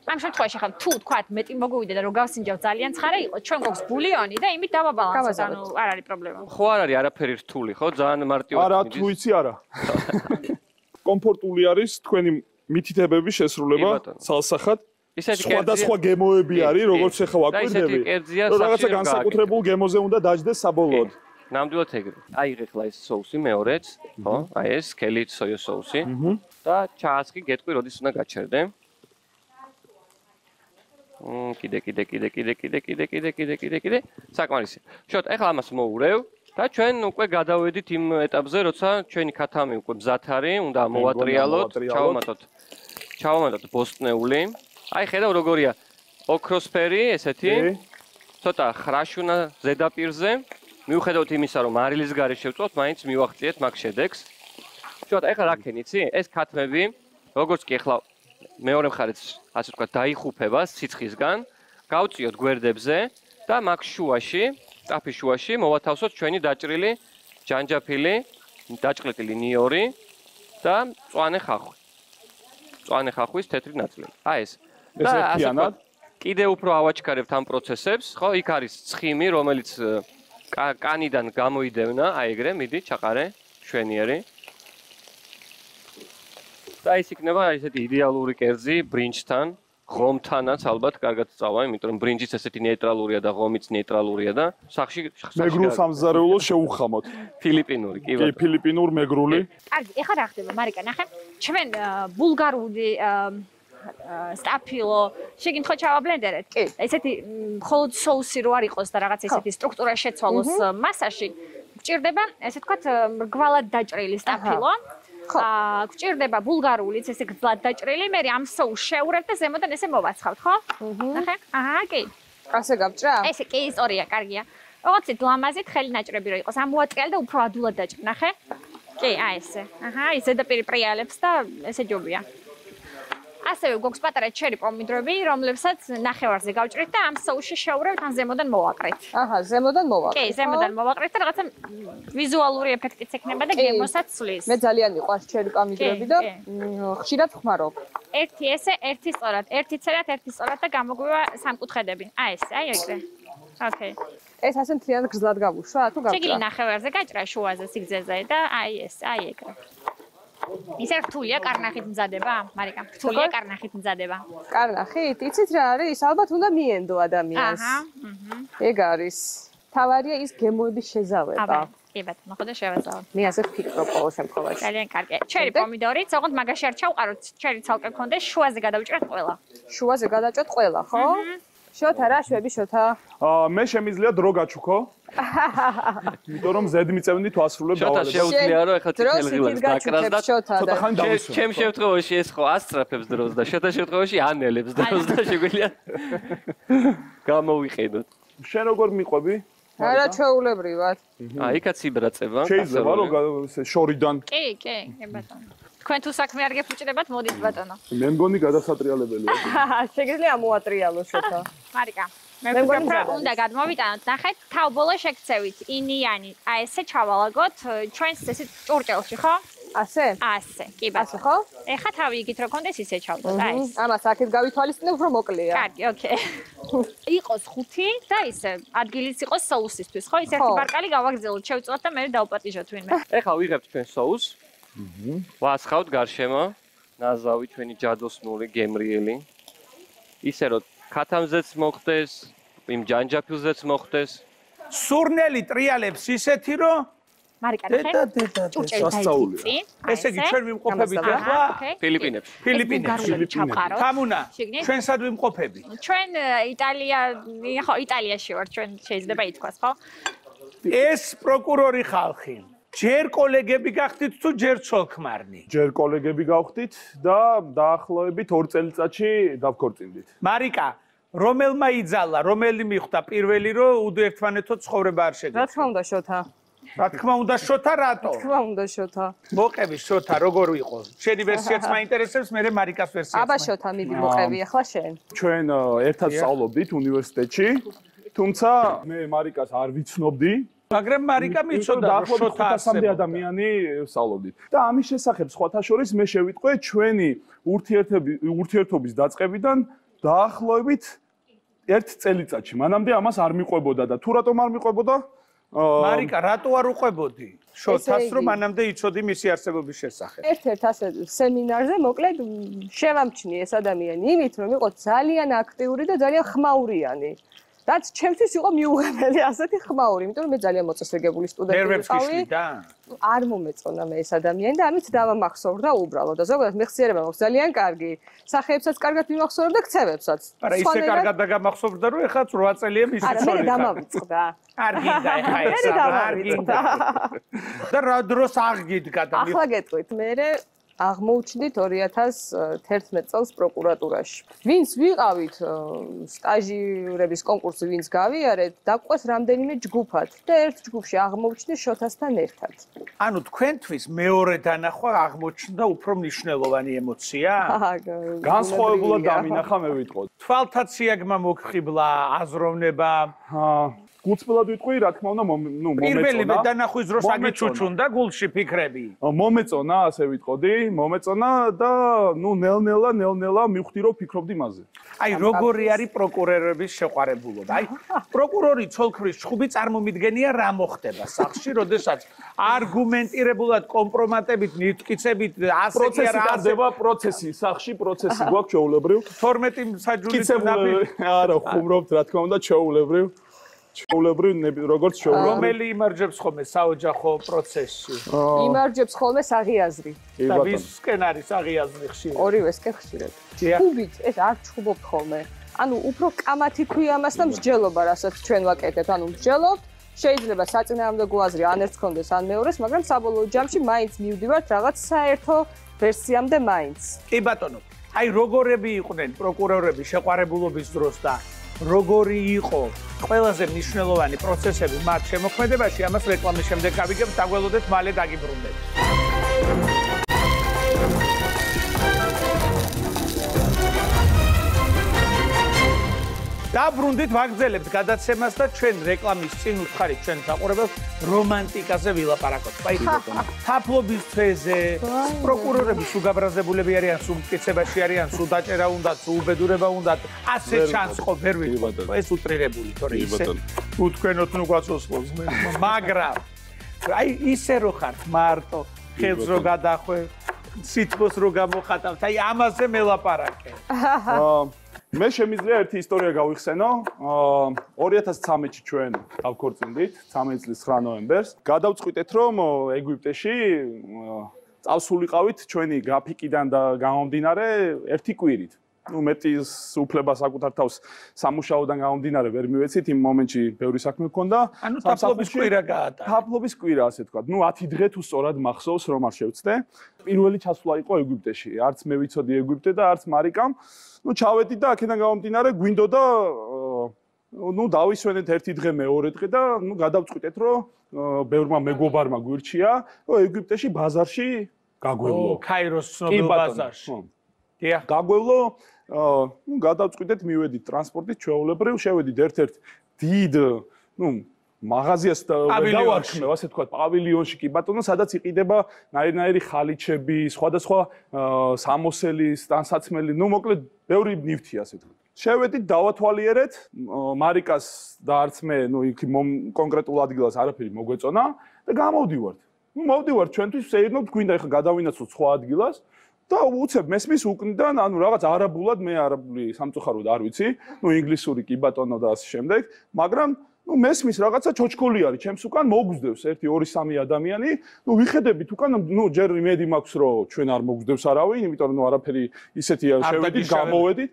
ამ შემთხვევაში ხა თუ თქვათ მეტი მოგვივიდა და რო გავსინჯავ ძალიან ცხარე იყო, ჩვენ გვაქვს ბულიონი და იმით დავაბალანსოთ, ანუ არ არის პრობლემა. ხო არ არის არაფერი რთული, ხო? ძალიან მარტივად. არა, თუ იცი არა. კომფორტული არის თქვენი მითითებები შესრულება სალსახად. ისეთი სხვადასხვა გემოები არის, როგორც ახლა ვაკვირდები. რომ რაღაცა განსაკუთრებულ გემოზე უნდა დაждდეს საბოლოოდ. ნამდვილად ეგრე. აიღე ხლა ეს соуსი მეორეც, ხო? აი ეს სკელი სოიო соуსი. და ჩაასხი, გეტყვი, როდის უნდა გაჩერდე. მ კიდე კიდე კიდე კიდე კიდე კიდე კიდე კიდე კიდე კიდე საკმარისი. შოთ, ახლა ამას მოურევ და ჩვენ უკვე გადავედით იმ ეტაპზე, როცა ჩვენი ქათამი უკვე მზად არის, უნდა მოვატრიალოთ, ჩავამატოთ. ჩავამატოთ ბოსტნეული. აი ხედავ როგორია ოქროსფერი ესეთი. ცოტა ხრაშუნა ზედაპირზე. მიუხედავად იმისა, რომ მარილის გარე შევწვავთ, მაინც მივახციეთ მაგ შედეგს. შოთ, ახლა რა ქენ იცი? ეს ქათმები, როგორც კი ახლა მეორე მხარეც, ასე ვთქვათ, დაიხუფება სიცხისგან, გავწიოთ გვერდებზე და მაგ შუაში, ტაფის შუაში მოვათავსოთ ჩვენი დაჭრილი ჯანჯაფილი, დაჭყლეტილი ნიორი და მწვანე ხახვი. მწვანე ხახვის თეთრი ნაწილი. აი ეს. ეს ერთიანად კიდე უფრო ავაჩქარებთ ამ პროცესებს, ხო? იქ არის ცხიმი, რომელიც კანიდან გამოიდევნა, აი ეგრე, მიდი, ჩაყარე, შვენიერი. და ის იქნება ესეთი იდეალური კერძი ბრინჯთან, ღომთანაც ალბათ კარგად წავა, იმიტომ რომ ბრინჯიც ესეთი ნეიტრალურია და ღომიც ნეიტრალურია და სახში მეგრულ სამზარეულოს შეუხამოთ. ფილიპინური, კი კი, ფილიპინურ მეგრული. კარგი, ეხლა რა ხდება, მარიკა, ნახე. ჩვენ ბულგარული სტაფილო შეგინთხო ჩავაბლენდერეთ. კი. ესეთი მხოლოდ соуსი რო არ იყოს და რაღაც ესეთი სტრუქტურა შეცვალოს მასაში, გჭირდება, ესე ვთქვათ, მრგვალად დაჭრილი სტაფილო. აა გჭირდება ბულგარულიც ესე გძლად დაჭრილი, მე ამ соуს შევურებ და ზემოდან ესე მოვაცხავთ, ხო? ნახე? აჰა, კი. ასე გავჭრა? ესე კი, ისტორია, კარგია. რაღაცით ლამაზით ხელი ნაჭრები რო იყოს, ამოატრიალე და უფრო ადულად დაჭრი, ნახე? კი, აი ესე. აჰა, ის ზედაპირი პრიალებს და ესე ჯობია. ასევე გვაქვს პატარა ჩერი პომიდრები, რომლებსაც ნახევარზე გავჭრით და ამ соуსში შევურევთ, ან ზემოდან მოვაკრით. აჰა, ზემოდან მოვაკრით. კი, ზემოდან მოვაკრით და რაღაცა ვიზუალური ეფექტიც ექნება და გემოსაც ცვლის. მე ძალიან მიყვარს ჩერი პომიდრები და ხშირად ვხმარობ. ერთი ესე, ერთი სწორად, ერთი წერათ, ერთი სწორად და გამოგვივა სამკუთხედები. აი ეს, აი ეგრე. ოკეი. ეს ასე მთლიანად გრძლად გავუშვა, თუ გავჭრა? შეგიძლია ნახევარზე გაჭრა შუაზე სიგრძეზე და აი ეს, აი ეგრე. ისე რთულია კარნახით მზადება, მარიკა. რთულია კარნახით მზადება. კარნახით? იცით რა არის? ალბათ უნდა მიენდო ადამიანს. აჰა, აჰა. ეგ არის. თავარია ის გემოების შეზავება. აბა, კი ბატონო, ხო და შევეძავ. მე ასე ვფიქრობ ყოველ შემთხვევაში. ძალიან კარგი. ჩერი პომიდორიც, ოღონდ მაგაში არ ჩავყაროთ, ჩერი ცალკე გქონდეს, შუაზე გადავჭრათ ყველა. შუაზე გადაჭოთ ყველა, ხო? შოთა რა შვები შოთა? აა მე შემიძლია დრო გაჩუქო. იმიტომ რომ ზედ მიწევნი თუ ასრულებ შოთა დავალებ. შეუძლია რომ ეხლა წითელ ღილებს დაკრას და შოთა და ხანი დავისვა. ჩემ შემთხვევაში ეს ხო ასწრაფებს დროს და შოთა შემთხვევაში ანელებს დროს და შეგვიძლია გამოვიყენოთ. შენ როგორ მიყვები? არა ჩვეულებრივად. აა იქაც იბრაწება. შეიძლება რომ ესე შორიდან. კი, კი, კი ბატონო. თქვენ თუ საქმე არ გეფუჭდებათ, მოდით ბატონო. მე მგონი გადასატრიალებელია. შეგიძლია მოატრიალო შოთა. მარიკა, მე მგონი უნდა გადმოვიტანოთ, ნახეთ, თავბოლო შეგცევით, ინიანი, აი ესე ჩავალაგოთ ჩვენს ესე ჭურჭელში, ხო? ასე? ასე, კი ბატონო. ხო? ეხა თავი იგით რო კონდეს ისე ჩავდოთ, აი ეს. ამას აქეთ გავითვალისწინებ, უფრო მოკლეა. კარგი, ოკეი. იყოს ხუთი და ისე ადგილიც იყოს соусისთვის, ხო? ის ერთი ბარკალი გავაგრძელოთ, შევწოთ და მე დავპატიჟოთ ვინმე. ეხლა ვიღებთ ჩვენ соус. აჰა. ვასხავთ გარშემო. ნაზავი ჩვენი ჯადოსნური გემრიელი. ისე რომ ქათამზეც მოხდეს, იმ ჯანჯაფილზეც მოხდეს. სურნელი ტრიალებს ისეთი რომ მარიკა ნახე. ჭურჭელი დაიწი. ესე იგი ჩვენ ვიმყოფებით ახლა ფილიპინებში. ფილიპინებში. თამუნა, ჩვენ სად ვიმყოფები? ჩვენ იტალია, ხო, იტალიაში ვარ, ჩვენ შეიძლება ითქვას, ხო? ეს პროკურორი ხალხი. ჯერ კოლეგები გახდით თუ ჯერ ცოლ-ქმარნი? ჯერ კოლეგები გავხდით და დაახლოებით ორ წელიწადში დავქორწინდით. მარიკა, რომელმა იძალა, რომელი მიხვდა პირველი რომ უდერთმანეთო ცხოვრება არ შეგეძლო? რა თქმა უნდა, შოთა. რა თქმა უნდა, შოთა რატო? რა თქმა უნდა, შოთა. მოყევი შოთა, როგორ ვიყო? შენი ვერსიაც მაინტერესებს, მე მარიკას ვერსიაც. აბა შოთა, მიდი მოყევი ახლა შენ. ჩვენ ერთად სწავლობდით უნივერსიტეტში, თუმცა მე მარიკას არ ვიცნობდი. მაგრამ მარიკა მიცოდა რომ შოთა ასამდე ადამიანი სწავლობდით. და ამის შესახებ სხვათა შორის მე შევიტყვე ჩვენი ურთიერთობის დაწყებიდან დაახლოებით ერთ წელიწადში. მანამდე ამას არ მიყვებოდა და თუ რატომ არ მიყვებოდა? მარიკა, რატო არ უყვებოდი? შოთას რომ მანამდე იცოდი მისი არსებობის შესახებ. ერთ-ერთ ასე სემინარზე მოკლედ შევამჩნი ეს ადამიანი იმით რომ იყო ძალიან აქტიური და ძალიან ხმაურიანი. რაც ჩემთვის იყო მიუღებელი ასეთი ხმაური, იმიტომ რომ მე ძალიან მოწესრიგებული სტუდენტი ვიყავი. არ მომეწონა მე ეს ადამიანი და ამით დავამახსოვრდა უბრალოდ და ზოგადად მეხსიერება მაქვს ძალიან კარგი. სახეებსაც კარგად მიმახსოვრებ და ქცევებსაც. არა, ისე კარგად დაგამახსოვრდა რომ ეხლა რვა წელია მისი არა, მე დამავიწყდა. არ გინდა ეხლა ეს არ გინდა. და რა დროს აღგიდგა და ახლა გეტყვით, მე აღმოუჩნდით ორი ათას თერთმეტ წელს პროკურატურაში. ვინც ვიყავით სტაჟირების კონკურსი, ვინც გავიარეთ, დაყვეს რამდენიმე ჯგუფად და ერთ ჯგუფში აღმოუჩნდით შოთასთან ერთად. ანუ თქვენთვის მეორე დანახვა აღმოჩნდა უფრო მნიშვნელოვანი ემოცია? განსხვავებულად დამინახა მე ვიტყოდ. თვალთა ციაგმა მოგხიბლა, აზროვნება. გულწრფელად ვიტყვი, რა თქმა უნდა, ნუ მომეწონა. პირველი დანახვის დროს აგიჩუჩუნდა გულში ფიქრები. მომეწონა, ასე ვიტყოდი, მომეწონა და ნუ ნელ-ნელა, ნელ-ნელა მივხვდი რომ ფიქრობდი მასზე. აი, როგორი არის პროკურორების შეყვარებულობა? აი, პროკურორი ცოლ-ქმრის ჩხუბი წარმომიდგენია რა მოხდება სახლში, როდესაც არგუმენტირებულად კომპრომატებით, მიტკიცებით, ასე კი არა აზდება პროცესი, სახლში პროცესი გვაქვს ჩვეულებრივ. თორმეტი საჯულის ნაბიჯი. არა, ხუმრობთ, რა თქმა უნდა, ჩვეულებრივ. ჩვეულებრივ როგორც ჩვეულებრივ. რომელი იმარჯვებს ხოლმე საოჯახო პროცესში? იმარჯვებს ხოლმე საღიაზრი. და ვისკენ არის საღიაზრი ხშირად? ორივესკენ ხშირად. ჩხუბით ეს არ ჩხუბობთ ხოლმე. ანუ უფრო კამათი ქვია მას და მსჯელობა, რასაც ჩვენ ვაკეთებთ, ანუ მსჯელობთ, შეიძლება საწინააღმდეგო აზრი ან ერთს კონდეს, ან მეორეს, მაგრამ საბოლოო ჯამში მაინც მივდივართ რაღაც საერთო ვერსიამდე მაინც. კი ბატონო, აი როგორები იყვნენ პროკურორები შეყვარებულობის დროს და როგორი იყო ყველაზე მნიშვნელოვანი პროცესები მათ შემოქმედებაში, ამას რეკლამის შემდეგ გავიგებთ, დაგველოდეთ, მალე დაგიბრუნდეთ. დაბრუნდით, ვაგრძელებთ გადაცემას და ჩვენ რეკლამის წინ უთხარით ჩვენ საყურებელს რომანტიკაზე ვილაპარაკოთ. აი, თაფლობის თვეზე, პროკურორები სულ გაბრაზებულები არიან, სულ მტკიცებაში არიან, სულ დაჭერა უნდათ, სულ უბედურება უნდათ. ასე ჩანს ხო, ვერ ვიტყოდ. ეს უტრირებული, თორე ისე უთქვენოთ ნუ გვაცოცხლოს მე. მაგრამ აი ისე რო ხართ მარტო, ხელს რო გადახვე, სითბოს რო გამოხატავთ, აი ამაზე მელაპარაკე. აა მე შემიძლია ერთი ისტორია გავიხსენო. ორი ათას ცხრამეტში ჩვენ დავქორწინდით, ცხრამეტი წლის ცხრა ნოემბერს. გადავწყვიტეთ, რომ ეგვიპტეში წავსულიყავით ჩვენი გრაფიკიდან და გამომდინარე ერთი კვირით. ნუ მეტის უფლება საკუთარ თავს სამუშაოდან გამომდინარე ვერ მივეცით, იმ მომენტში ბევრი საქმე მქონდა. ანუ თაფლობის კვირა გაატარა. თაფლობის კვირა, ასე თქვა. ნუ ათი დღე თუ სწორად მახსოვს, რომ არ შევწდე. პირველი ჩასვლა იყო ეგვიპტეში. არც მე ვიცოდი ეგვიპტე და არც მარიკამ. ნუ ჩავედი და აქედან გამომდინარე გვინდოდა ნუ დავისვენეთ ერთი დღე მეორე დღე და ნუ გადავწყვიტეთ რომ ბევრმა მეგობარმა გვირჩია რომ ეგვიპტეში ბაზარში გაგვევლო. ო, ქაიროს ცნობილ ბაზარში. დიახ, გაგვევლო, ნუ გადავწყვიტეთ მივედით ტრანსპორტით ჩვეულებრივ, შევედით ერთ-ერთ დიდ, ნუ მაღაზიას და გავარქმევ, ასე თქვა, პავილიონში კი ბატონო, სადაც იყიდება ნაირ-ნაირი ხალიჩები, სხვადასხვა სამოსელი, სტანსაცმელი, ნუ მოკლედ ბევრი ნივთი, ასე თქვა. შევედით დავათვალიერეთ მარიკას და არც მე ნუ იქ კონკრეტულ ადგილას არაფერი მოგვეწონა და გამოვდივართ. ნუ მოვდივართ ჩვენთვის შეერნოთ გვინდა ეხლა გადავინაცვლოთ სხვა ადგილას და უცებ მესმის უკნიდან ანუ რაღაც არაბულად მე არაბული სამწუხაროდ არ ვიცი, ნუ ინგლისური კი ბატონო და ასე შემდეგ, მაგრამ ნუ მესმის რაღაცა ჩოჩქოლი არის ჩემს უკან მოგვძდევს ერთი ორი სამი ადამიანი, ნუ ვიხედებით უკან ნუ ჯერ იმედი მაქვს რომ ჩვენ არ მოგვძდევს არავინ, იმიტომ რომ ნუ არაფერი ისეთი შევედით გამოვედით.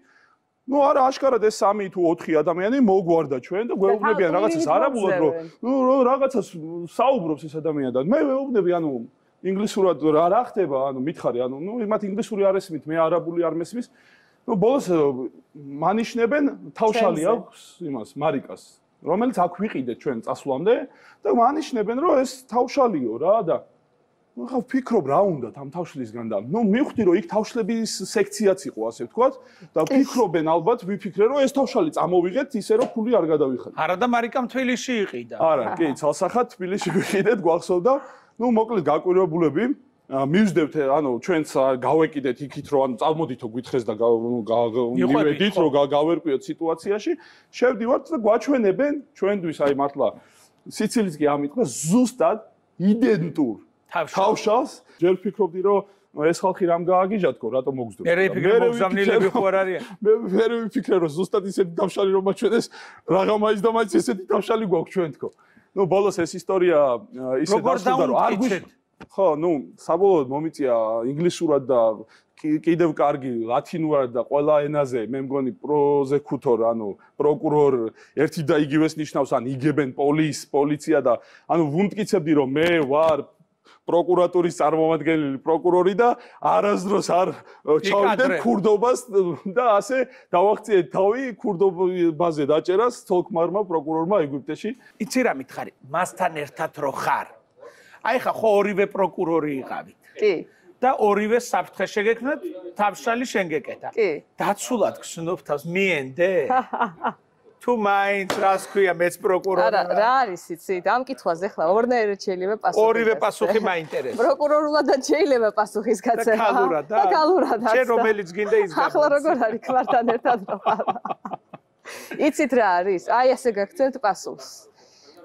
ნუ არა აშკარად ეს სამი თუ ოთხი ადამიანი მოგვარდა ჩვენ და გვეუბნებიან რაღაცას არაბულად რომ ნუ რაღაცას საუბრობს ეს ადამიანი და მე ვეუბნები ანუ ინგლისურად რა ხდება ანუ მითხარი ანუ ნუ მათ ინგლისური არ ესმით მე არაბული არ მესმის ნუ ბოლოს მანიშნებენ თავშალი აქვს იმას მარიკას რომელიც აქ ვიყიდეთ ჩვენ წასვლამდე და მანიშნებენ რომ ეს თავშალიო რა და ნუ ხა ვფიქრობ რა უნდათ ამ თავშლისგან და ნუ მივხვდი რომ იქ თავშლების სექციაც იყო ასე ვთქვათ და ვფიქრობენ ალბათ ვიფიქრე რომ ეს თავშალი წამოვიღეთ ისე რომ ფული არ გადავიხადე არა და მარიკამ თბილისში იყიდა არა კი ცალსახად თბილისში ვიყიდეთ გვახსოვდა ნუ მოკლედ გაკვირვებულები მივსდევთ ანუ ჩვენც გავეკიდეთ იქით რომ ანუ წამოდითო გითხეს და მივედით რომ გავერკვიოთ სიტუაციაში შევდივართ და გვაჩვენებენ ჩვენთვის აი მართლა სიცილიც კი ამიტყვა ზუსტად იდენტურ თავშალს ჯერ ვფიქრობდი რომ ეს ხალხი რამ გააგიჟათქო რატომ მოგზდო მე ვიფიქრე მოგზავნილები ხო არ არიან მე მე ვიფიქრე რომ ზუსტად ისეთი თავშალი რომ მაჩვენეს რაღაცა და მაინც ესეთი თავშალი გვაქვს ჩვენ თქო ნუ ბოლოს ეს ისტორია ისე დასრულდა რომ არ გვიშ ხო ნუ საბოლოოდ მომიწია ინგლისურად და კიდევ კარგი ლათინურად და ყველა ენაზე მე მგონი პროზეკუთორ ანუ პროკურორ ერთი და იგივეს ნიშნავს ან იგებენ პოლის პოლიცია და ანუ ვუმტკიცებდი რომ მე ვარ პროკურატურის წარმომადგენელი პროკურორი და არასდროს არ ჩავიდე ქურდობას და ასე დავახციეთ თავი ქურდობაზე დაჭერას თოლქმარმა პროკურორმა ეგვიპტეში. იცი რა მითხარი, მასთან ერთად რო ხარ. აი ხა ხო ორივე პროკურორი იყავით. კი. და ორივე საფრთხე შეგექმნათ, თავშალი შენ გეკეთა. კი. დაცულად გსნობ თავს მიენდე? თუ მაინც რას ქვია მეც პროკურორი არა რა არის იცით ამ კითხვაზე ხლა ორნაირად შეიძლება პასუხი ორივე პასუხი მაინტერესებს პროკურორულად შეიძლება პასუხის გაცემა და ქალურად და ქალურად შენ რომელიც გინდა ის გახდა ახლა როგორ არის ქმართან ერთად იცით რა არის აი ასე გაგცემთ პასუხს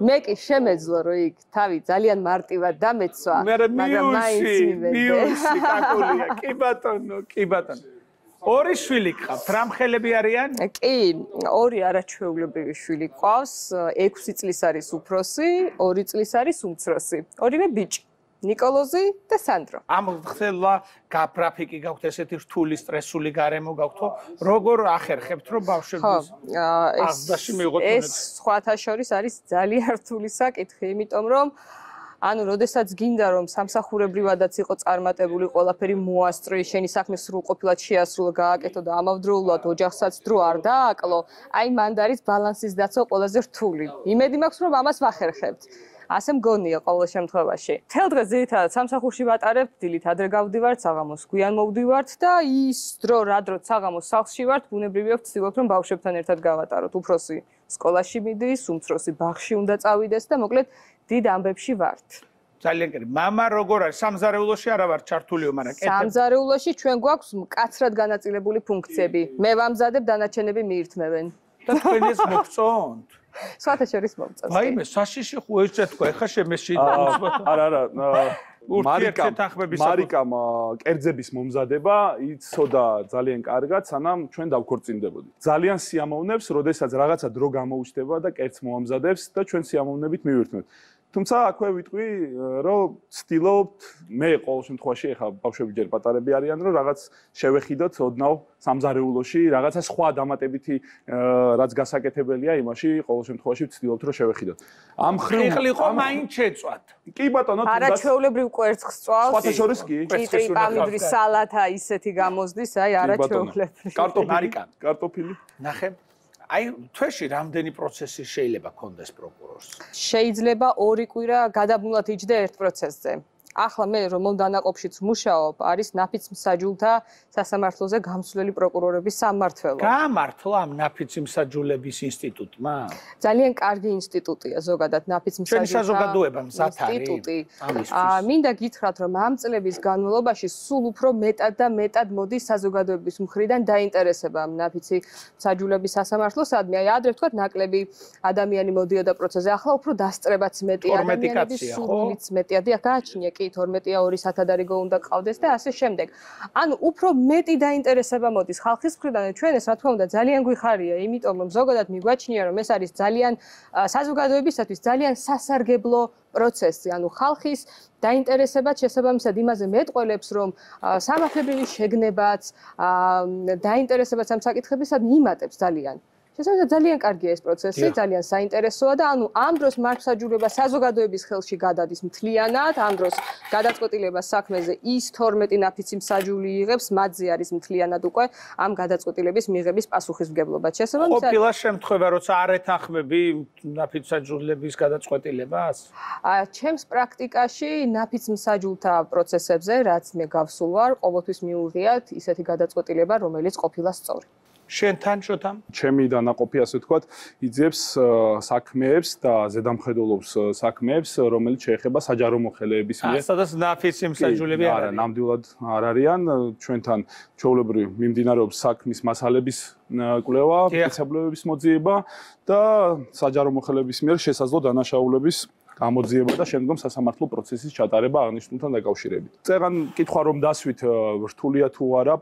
მე კი შემეძლო რომ იქ თავი ძალიან მარტივად დამეცვა მაგრამ მაინც მივედე მიუსი კაკულია კი ბატონო კი ბატონო ორი შვილი გყავთ, რა მხელები არიან? კი, ორი არაჩვეულებრივი შვილი გყავს, ექვსი წლის არის უფროსი, ორი წლის არის უმცროსი. ორივე ბიჭი, ნიკოლოზი და სანდრო. ამ ხსელა გაფრაფიკი გაქვთ ესეთი რთული სტრესული გარემო გაქვთო, როგორ ახერხებთ რომ ბავშვებს აღდაში მიიღოთ? ეს სხვათა შორის არის ძალიან რთული საკითხი, იმიტომ რომ ანუ როდესაც გინდა რომ სამსახურებრივადაც იყო წარმატებული ყველაფერი მოასწრო შენი საქმე სრულყოფილად შეასრულო გააკეთო და ამავდროულად ოჯახსაც დრო არ დააკლო აი მანდ არის ბალანსის დაცვა ყველაზე რთული იმედი მაქვს რომ ამას ვახერხებთ ასე მგონია ყოველ შემთხვევაში თელ დღეს ძირითადად სამსახურში ვატარებ დილით ადრე გავდივართ საღამოს გვიან მოვდივართ და ის დრო რა დროც საღამოს სახლში ვართ ბუნებრივია ვცდილობთ რომ ბავშვებთან ერთად გავატაროთ უფროსი სკოლაში მიდის უმცროსი ბაღში უნდა წავიდეს და მოკლედ დიდ ამბებში ვართ. ძალიან კარგი. მამა როგორ არის? სამზარეულოში არა ვარ ჩართულიო, მაგრამ კეთებ. სამზარეულოში ჩვენ გვაქვს მკაცრად განაწილებული ფუნქციები. მე ვამზადებ, დანარჩენები მიირთმევენ. და თქვენ ეს მოგწონთ? სხვათა შორის მომწონს. ვაიმე, საშიში ხო ეს თქვა, ეხა შემეში. არა, არა. მარიკა მარიკამ კერძების მომზადება იცოდა ძალიან კარგად, სანამ ჩვენ დავქორწინდებოდით. ძალიან სიამოვნებს, როდესაც რაღაცა დრო გამოუჩნდება და კერძს მოამზადებს და ჩვენ სიამოვნებით მივირთმევთ. თუმცა აქვე ვიტყვი, რომ ცდილობთ მე ყოველ შემთხვევაში ეხა ბავშვები ჯერ პატარები არიან, რომ რაღაც შევეხიდოთ ოდნავ სამზარეულოში, რაღაცა სხვა დამატებითი რაც გასაკეთებელია იმაში, ყოველ შემთხვევაში ვცდილობთ რომ შევეხიდოთ. ამ ხრივ ხილიყო მაინც შეწვათ. კი ბატონო, არაჩვეულებრივ კვერცხს წვავს. სხვათა შორის კი. კიტრი, პამიდრის სალათა ისეთი გამოზდის, აი არაჩვეულებრივ. კარტოფილი, კარტოფილი. ნახე. აი თვეში რამდენი პროცესი შეიძლება კონდეს პროკურორს? შეიძლება ორი კვირა გადაბმულად იჯდე ერთ პროცესზე. ახლა მე რომელ დანაყოფშიც მუშაობ, არის ნაფიც-მსაჯულთა სასამართლოზე გამსვლელი პროკურორების სამმართველო. გამართლა ამ ნაფიც-მსაჯულების ინსტიტუტმა? ძალიან კარგი ინსტიტუტია ზოგადად ჩვენი საზოგადოება მზად არის ამისთვის. მინდა გითხრათ, რომ ამ წლების განმავლობაში სულ უფრო მეტად და მეტად მოდის საზოგადოების მხრიდან დაინტერესება ამ ნაფიცი მსაჯულების სასამართლოსადმი. აი ადრე ვთქვათ, ნაკლები ადამიანი მოდიოდა პროცესზე, ახლა უფრო დასწრებაც მეტია, ადამიანების სულიც მეტია. დიახ, გააჩნია კი თორმეტი ორი სათადარიგო უნდა ყავდეს და ასე შემდეგ. ანუ უფრო მეტი დაინტერესება მოდის ხალხის მხრიდან. ჩვენ ეს რა თქმა უნდა ძალიან გვიხარია, იმიტომ რომ ზოგადად მიგვაჩნია, რომ ეს არის ძალიან საზოგადოებისათვის ძალიან სასარგებლო პროცესი. ანუ ხალხის დაინტერესებაც შესაბამისად იმაზე მეტყველებს, რომ სამართლებრივი შეგნებაც, დაინტერესებაც ამ საკითხებისადმი იმატებს ძალიან. შესაბამისად ძალიან კარგია ეს პროცესი, ძალიან საინტერესოა და ანუ ამ დროს მართლმსაჯულება საზოგადოების ხელში გადადის მთლიანად, ამ დროს გადაწყვეტილება საქმეზე ის თორმეტი ნაფიცი მსაჯული იღებს, მათზე არის მთლიანად უკვე ამ გადაწყვეტილების მიღების პასუხისმგებლობა. შესაბამისად ყოფილა შემთხვევა, როცა არ ეთანხმები ნაფიცმსაჯულების გადაწყვეტილებას? ჩემს პრაქტიკაში ნაფიცმსაჯულთა პროცესებზე, რაც მე გავსულ ვარ, ყოველთვის მიუღიათ ისეთი გადაწყვეტილება, რომელიც ყოფილა სწორი. შენთან შოთამ? ჩემი დანაყოფი ასე ვთქვათ, იძებს საქმეებს და ზედამხედველობს საქმეებს, რომელიც შეეხება საჯარო მოხელეების მიერ. სადაც ნაფიცი მსაჯულები არ არა, ნამდვილად არ არიან. ჩვენთან ჩვეულებრივ მიმდინარეობს საქმის მასალების კვლევა, სპეციალობების მოძიება და საჯარო მოხელეების მიერ შესაძლო დანაშაულების გამოძიება და შემდგომ სასამართლო პროცესის ჩატარება აღნიშნულთან დაკავშირებით. წერან კითხვა რომ დასვით რთულია თუ არა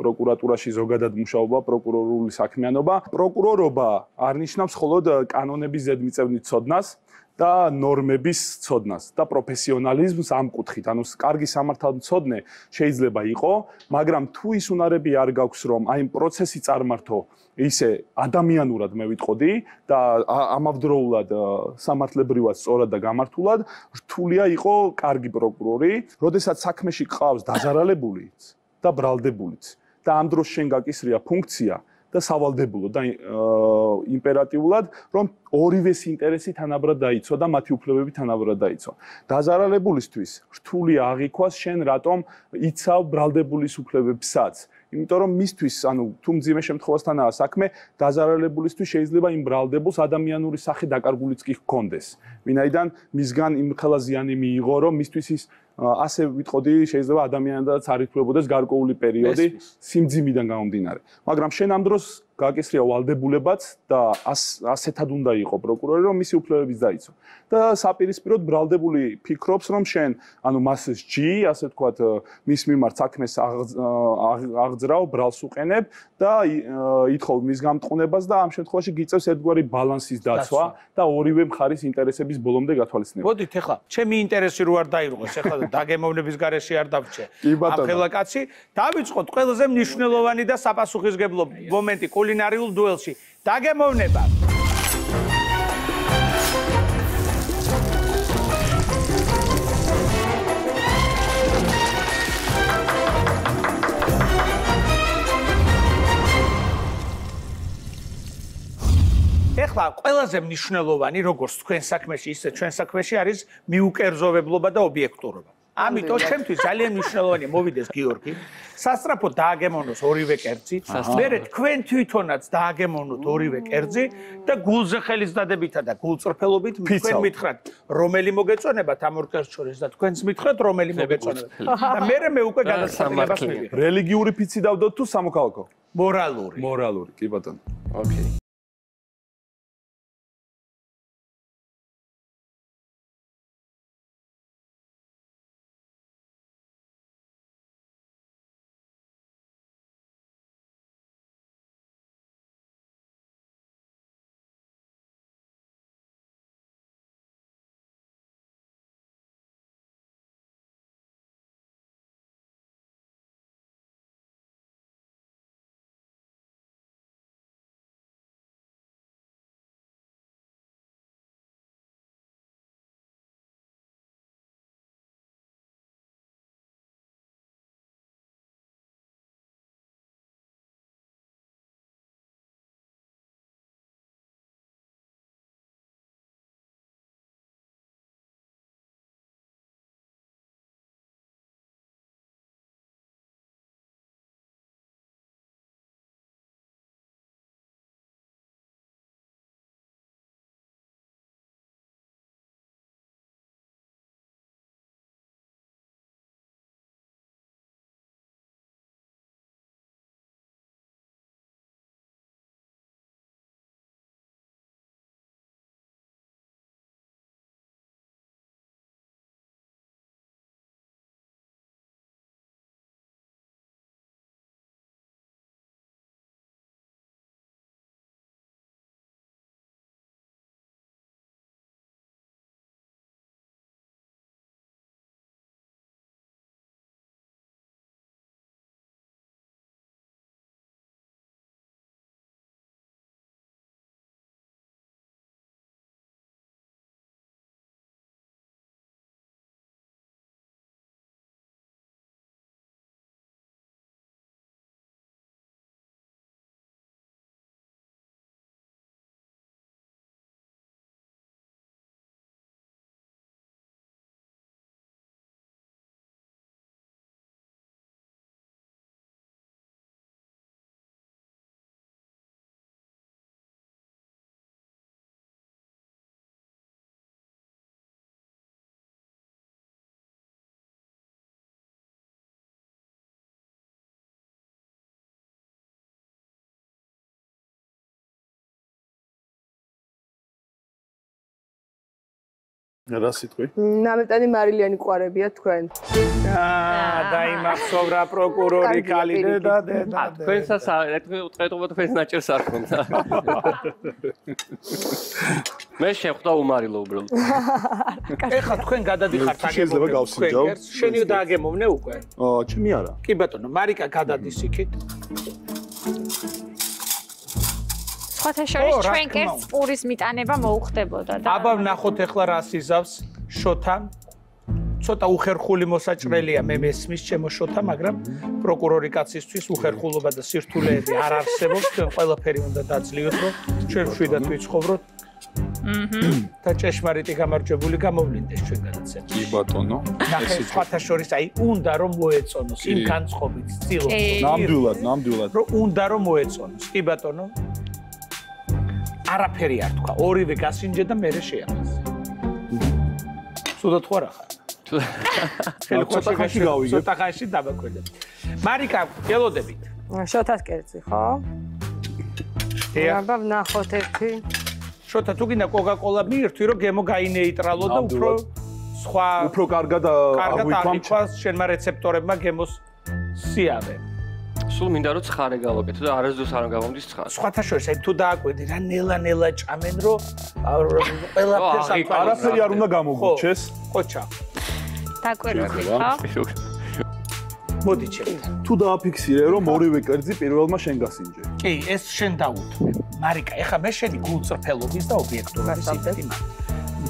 პროკურატურაში ზოგადად მუშაობა, პროკურორული საქმიანობა. პროკურორობა არ ნიშნავს მხოლოდ კანონების ზედმიწევნით ცოდნას და ნორმების ცოდნას და პროფესიონალიზმს ამ კუთხით. ანუ კარგი სამართალმცოდნე შეიძლება იყო, მაგრამ თუ ის უნარები არ გაქვს, რომ აი პროცესი წარმართო ისე ადამიანურად მე ვიტყოდი და ამავდროულად სამართლებრივად სწორად და გამართულად, რთულია იყო კარგი პროკურორი, როდესაც საქმეში ყავს დაზარალებულიც და ბრალდებულიც და ამ დროს შენ გაკისრია ფუნქცია და სავალდებულო და იმპერატიულად, რომ ორივეს ინტერესი თანაბრად დაიცვა და მათი უფლებები თანაბრად დაიცვა. დაზარალებულისთვის რთულია აღიქვას შენ რატომ იცავ ბრალდებულის უფლებებსაც. იმიტომ რომ მისთვის, ანუ თუ მძიმე შემთხვევასთანაა საქმე, დაზარალებულისთვის შეიძლება იმ ბრალდებულს ადამიანური სახე დაკარგულიც კი ჰქონდეს. ვინაიდან მისგან იმხელა ზიანი მიიღო, რომ მისთვის ის ასე ვიტყოდი, შეიძლება ადამიანადაც არ ითვლებოდეს გარკვეული პერიოდი სიმძიმიდან გამომდინარე. მაგრამ შენ ამ დროს გაკისრია ვალდებულებაც და ასეთად უნდა იყო პროკურორი, რომ მისი უფლებებიც დაიცვა. და საპირისპიროდ ბრალდებული ფიქრობს, რომ შენ, ანუ მას სჯი, ასე ვთქვათ, მის მიმართ საქმეს აღძრავ, ბრალს უყენებ და ითხოვ მის გამტყუნებას და ამ შემთხვევაში გიწევს ერთგვარი ბალანსის დაცვა და ორივე მხარის ინტერესების ბოლომდე გათვალისწინება. მოდით ახლა, ჩემი ინტერესი რო არ დაირღვეს, ახლა დაგემოვნების garaში არ დავჭე. ამ ხელა კაცი, დავიწყოთ ყველაზე მნიშვნელოვანი და საპასუხისმგებლო მომენტი კულინარიულ დუელში. დაგემოვნება. ეხლა ყველაზე მნიშვნელოვანი როგორც თქვენ საქმეში, ისე ჩვენ საქმეში არის მიუკერძოვებლობა და ობიექტურობა. ამიტომ ჩემთვის ძალიან მნიშვნელოვანია მოვიდეს გიორგი, სასწრაფოდ დააგემოვნოს ორივე კერძი, მერე თქვენ თვითონაც დააგემოვნოთ ორივე კერძი და გულზე ხელის დადებითა და გულწრფელობით თქვენ მითხრათ, რომელი მოგეწონებათ ამ ორ კერძს შორის და თქვენც მითხრათ, რომელი მოგეწონებათ. და მერე მე უკვე გადაწყვეტილებას მივიღებ. რელიგიური ფიცი დავდოთ თუ სამოქალაქო? მორალური. მორალური, კი ბატონო. ოკეი. რა სიტყვი? ნამეტანი მარილიანი ყვარებია თქვენ. აა დაიმახსოვრა პროკურორი კალი და და თქვენსაც ეტყობა თქვენს ნაჭერს არ ხონდა. მე შეხვდა უმარილო უბრალოდ. ეხლა თქვენ გადადიხართ შეიძლება გავსინჯავ? შენი დააგემოვნე უკვე? აა, ჩემი არა. კი ბატონო, მარიკა გადადის იქით. სხვათა შორის ჩვენ კერძს პურის მიტანება მოუხდებოდა და აბა ვნახოთ ეხლა რას იზავს შოთა. ცოტა უხერხული მოსაჭრელია მე მესმის ჩემო შოთა, მაგრამ პროკურორი კაცისთვის უხერხულობა და სირთულეები არ არსებობს, ჩვენ ყველაფერი უნდა დაძლიოთ, რომ ჩვენ შვიდად ვიცხოვროთ. და ჭეშმარიტი გამარჯვებული გამოვლინდეს ჩვენ გადაცემაში. კი ბატონო. ნახე სხვათა შორის აი უნდა რომ მოეწონოს იმ განწყობით ცდილობს. ნამდვილად, ნამდვილად. რომ უნდა რომ მოეწონოს. კი ბატონო. არაფერი არ თქვა. ორივე გასინჯე და მერე შეაფასე. სულაც ხო რა ხარ? ცოტა ხანში გავიგებ. ცოტა ხანში დაბაკვირდები. მარიკა, გელოდებით. შოთას კერძი, ხო? აბა ვნახოთ ერთი. შოთა თუ გინდა კოკა-კოლა მიირთვი, რომ გემო გაინეიტრალო და უფრო სხვა უფრო კარგად აღვიქვამს შენმა რეცეპტორებმა გემოს სიავე. სულ მინდა რომ ცხარე გავაკეთო და არასდროს არ გამომდის ცხარე. სხვათა შორის აი თუ დააკვირდი რა ნელა-ნელა ჭამენ, რომ ყველაფერს არაფერი არ უნდა გამოგუჩეს. ხო ჩა. დაკვირვებით, ხო? მოდი ჩემთან. თუ დააფიქსირე რომ ორივე კერძი პირველმა შენ გასინჯე. კი, ეს შენ დაუთმე. მარიკა, ეხლა მე შენი გულწრფელობის და ობიექტურობის სიტყვი.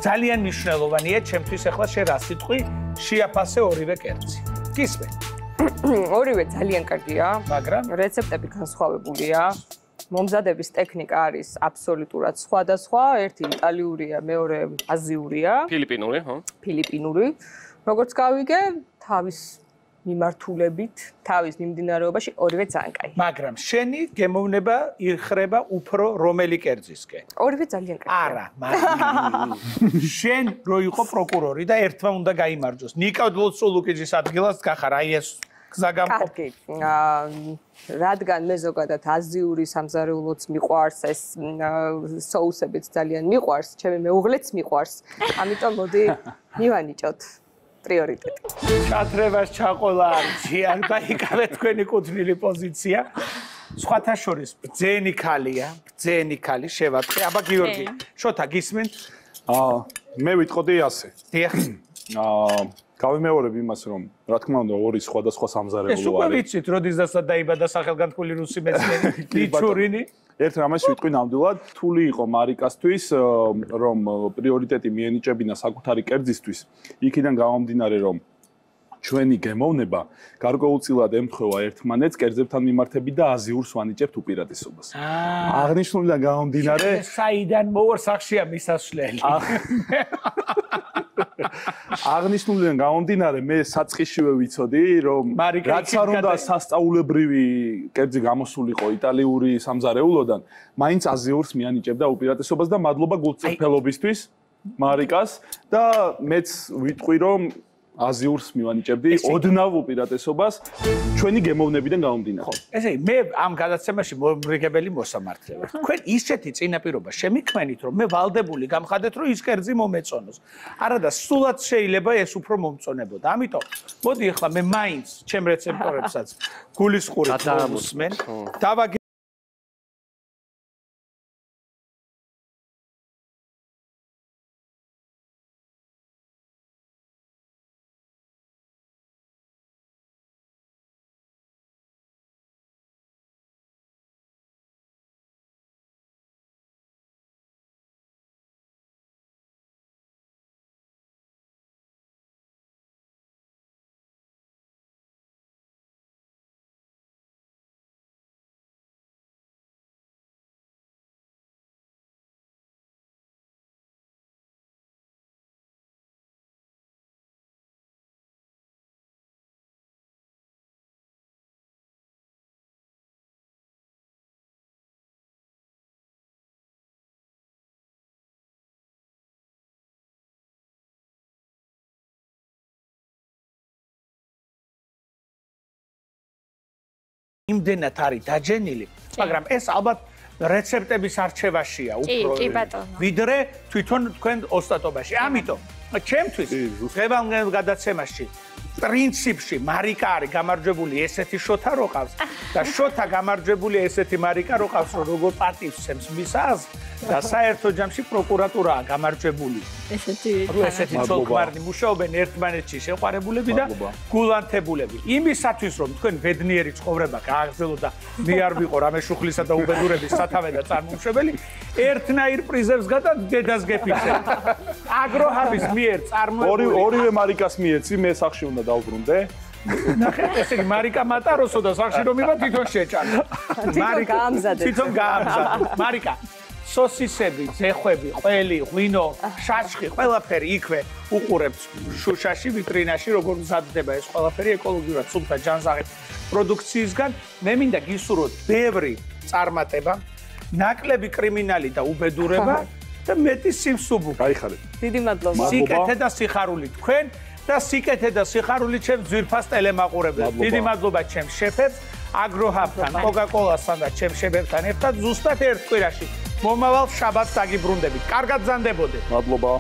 ძალიან მნიშვნელოვანია ჩემთვის ეხლა შენ რა სიტყვი შეაფასე ორივე კერძი. გისმენ? ორივე ძალიან კარგია, მაგრამ რეცეპტები განსხვავებულია. მომზადების ტექნიკა არის აბსოლუტურად სხვადასხვა, ერთი იტალიურია, მეორე აზიურია, ფილიპინური, ხო? ფილიპინური. როგორც გავიგე, თავის მიმართულებით, თავის მიმდინარეობაში ორივე ძალიან კაი. მაგრამ შენი გემოვნება იხრება უფრო რომელი კერძისკენ? ორივე ძალიან კაი. არა, მაგრამ შენ რო იყო პროკურორი და ერთმა უნდა გაიმარჯვოს. ნიკა ლოცულუკიძის ადგილას გახარ, აი ეს გზა გამყოფ. კარგი. რადგან მე ზოგადად აზიური სამზარეულოც მიყვარს, ეს соусებიც ძალიან მიყვარს, ჩემი მეუღლეც მიყვარს. ამიტომ მოდი მივანიჭოთ პრიორიტეტი. ჩათრებას ჩაყოლა არჩიან და იკავე თქვენი კუთვნილი პოზიცია. სხვათა შორის ბძენი ქალია, ბძენი ქალი შევატყე. აბა გიორგი, შოთა გისმენთ? აა, მე ვიტყოდი ასე. დიახ. აა, გავიმეორებ იმას, რომ რა თქმა უნდა ორი სხვადასხვა სამზარეულო არის. ეს უკვე ვიცით, როდესაც დაიბადა სახელგანთქმული რუსი მეცნიერი ნიჩურინი. ერთ რამეს ვიტყვი ნამდვილად, რთული იყო მარიკასთვის, რომ პრიორიტეტი მიენიჭებინა საკუთარი კერძისთვის, იქიდან გამომდინარე, რომ ჩვენი გემოვნება გარკვეულწილად ემთხვევა ერთმანეთს კერძებთან მიმართებით და აზიურს ვანიჭებთ უპირატესობას. აღნიშნულიდან გამომდინარე, საიდან მოვარ სახშია მისასვლელი. აღნიშნულიდან გამომდინარე, მე საწყისშივე ვიცოდი, რომ რაც არ უნდა სასწაულებრივი კერძი გამოსულიყო იტალიური სამზარეულოდან, მაინც აზიურს მიანიჭებდა უპირატესობას და მადლობა გულწრფელობისთვის მარიკას და მეც ვიტყვი, რომ აზიურს მივანიჭებდი ოდნავ უპირატესობას ჩვენი გემოვნებიდან გამომდინარე. ესე იგი, მე ამ გადაცემაში მომრიგებელი მოსამართლე ვარ. თქვენ ისეთი წინაპირობა შემიქმენით, რომ მე ვალდებული გამხადეთ, რომ ის კერძი მომეწონოს. არადა სულად შეიძლება ეს უფრო მომწონებოდა. ამიტომ მოდი ახლა მე მაინც ჩემ რეცეპტორებსაც გულისყურით დავუსმენ. დავაგე იმდენად არის დაჯენილი, მაგრამ ეს ალბათ რეცეპტების არჩევაშია უფრო ვიდრე თვითონ თქვენ ოსტატობაში. ამიტომ ჩემთვის დღევანდელ გადაცემაში პრინციპში მარიკა არის გამარჯვებული ესეთი შოთა რო ყავს და შოთა გამარჯვებული ესეთი მარიკა რო ყავს რომ როგორ პატივცემს მისას და საერთო ჯამში პროკურატურაა გამარჯვებული ესეთი ესეთი ცოლ-ქმარნი მუშაობენ ერთმანეთში შეყვარებულები და გულანთებულები იმისათვის რომ თქვენ ბედნიერი ცხოვრება გააგრძელოთ და მე არ ვიყო რამე შუხლისა და უბედურების სათავე და წარმომშვებელი ერთნაირ პრიზებს გადა დედას გეფიქსებთ აგროჰაბის მიერ წარმოებული ორივე მარიკას მიეცი მე სახში უნდა დავბრუნდე ნახეთ ესე იგი მარიკა მატაროსო და სახში რომ ივა თვითონ შეჭამა მარიკა გაამზადეთ თვითონ გაამზადეთ მარიკა სოსისები, ზეხვები, ყველი, ღვინო, შაშხი, ყველაფერი იქვე უყურებთ შუშაში, ვიტრინაში, როგორ მზადდება ეს ყველაფერი ეკოლოგიურად სუფთა ჯანზაღი პროდუქციისგან. მე მინდა გისურვოთ ბევრი წარმატება, ნაკლები კრიმინალი და უბედურება და მეტი სიმსუბუქე. გაიხარეთ. დიდი მადლობა. სიკეთე და სიხარული თქვენ და სიკეთე და სიხარული ჩემს ძვირფას ტელემაყურებლებს. დიდი მადლობა ჩემს შეფებს, აგროჰაბთან, კოკა-კოლასთან და ჩემს შეფებთან ერთად ზუსტად ერთ კვირაში. მომავალ შაბათს დაგიბრუნდებით. კარგად გზანდებოდეთ. მადლობა.